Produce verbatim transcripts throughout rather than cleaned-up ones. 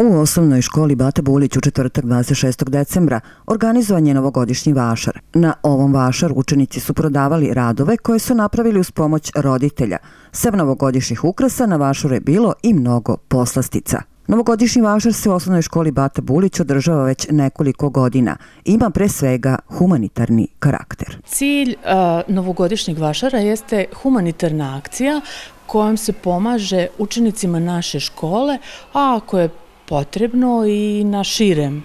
U osnovnoj školi Bata Bulić u četvrtak dvadeset šestog decembra organizovan je novogodišnji vašar. Na ovom vašaru učenici su prodavali radove koje su napravili uz pomoć roditelja. Sem novogodišnjih ukrasa na vašaru je bilo i mnogo poslastica. Novogodišnji vašar se u osnovnoj školi Bata Bulić održava već nekoliko godina. Ima pre svega humanitarni karakter. Cilj uh, novogodišnjeg vašara jeste humanitarna akcija kojom se pomaže učenicima naše škole, a ako je potrebno i na širem,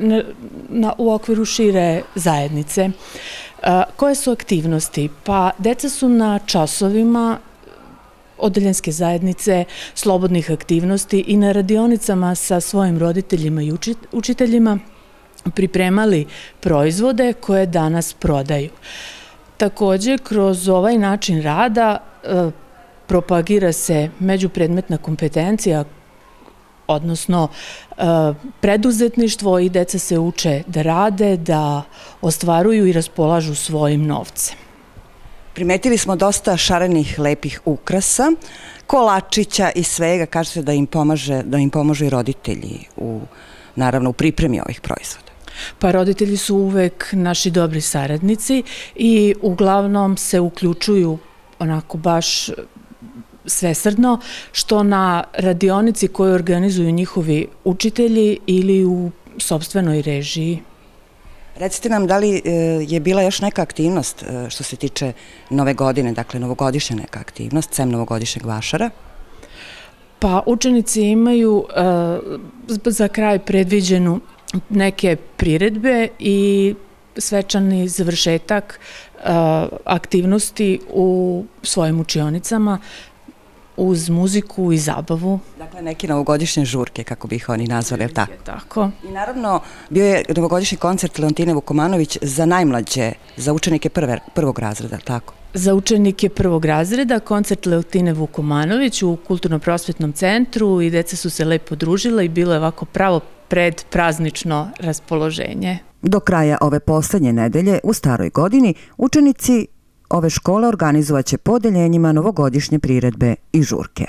na, na, u okviru šire zajednice. Uh, koje su aktivnosti? Pa deca su na časovima odeljenske zajednice, slobodnih aktivnosti i na radionicama sa svojim roditeljima i učiteljima pripremali proizvode koje danas prodaju. Također, kroz ovaj način rada e, propagira se međupredmetna kompetencija, odnosno e, preduzetništvo, i deca se uče da rade, da ostvaruju i raspolažu svojim novcem. Primetili smo dosta šarenih, lepih ukrasa, kolačića i svega. Kažete da im pomaže, da im pomažu i roditelji u, naravno, u pripremi ovih proizvoda. Pa roditelji su uvek naši dobri saradnici i uglavnom se uključuju onako baš svesrdno, što na radionici koju organizuju njihovi učitelji ili u sopstvenoj režiji. Recite nam, da li je bila još neka aktivnost što se tiče nove godine, dakle novogodišnja neka aktivnost, sem novogodišnjeg vašara? Pa učenici imaju uh, za kraj predviđenu neke priredbe i svečani završetak uh, aktivnosti u svojim učionicama uz muziku i zabavu. Dakle, neke novogodišnje žurke, kako bi ih oni nazvali, je li tako? Tako. I naravno, bio je novogodišnji koncert Leontine Vukomanović za najmlađe, za učenike prve, prvog razreda, tako? Za učenike prvog razreda koncert Leontine Vukomanović u Kulturno-prosvetnom centru, i deca su se lepo družila i bilo je ovako pravo predpraznično raspoloženje. Do kraja ove poslednje nedelje u staroj godini učenici ove škole organizovaće po odeljenjima novogodišnje priredbe i žurke.